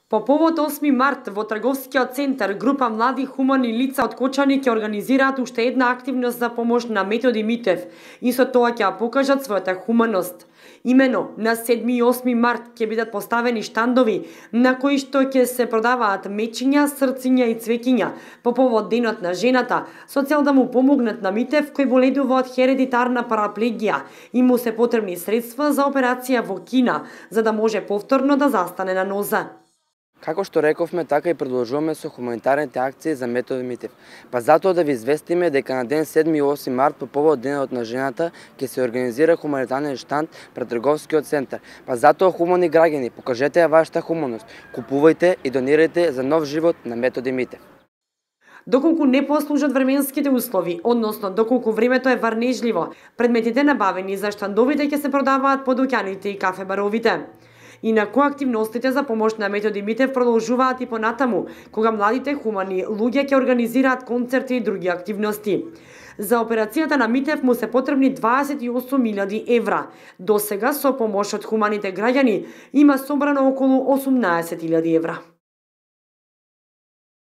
По повод 8 март во трговскиот центар група млади хумани лица од Кочани ќе организираат уште една активност за помош на Методи Митев и со тоа ќе покажат својата хуманост. Имено на 7 и 8 март ќе бидат поставени штандови на кои што ќе се продаваат мечиња, срциња и цвеќиња по повод денот на жената, со цел да му помогнат на Митев кој боледува од хередитарна параплегија и му се потребни средства за операција во Кина за да може повторно да застане на ноза. Како што рековме, така и продолжуваме со хуманитарните акции за Методи Митев. Па затоа да ви известиме дека на ден 7 и 8 март по повод денот на жената ќе се организира хуманитарен штанд пред трговскиот центар. Па затоа, хумани граѓани, покажете ја вашата хуманост, купувајте и донирајте за нов живот на Методи Митев. Доколку не послужат временските услови, односно доколку времето е варнежливо, предметите набавени за штандовите ќе се продаваат по дуќаните и кафе-баровите. Инаку активностите за помош на Методи Митев продолжуваат и понатаму, кога младите хумани луѓе ќе организираат концерти и други активности. За операцијата на Митев му се потребни 28.000 евра. До сега со помош од хуманите граѓани има собрано околу 18.000 евра.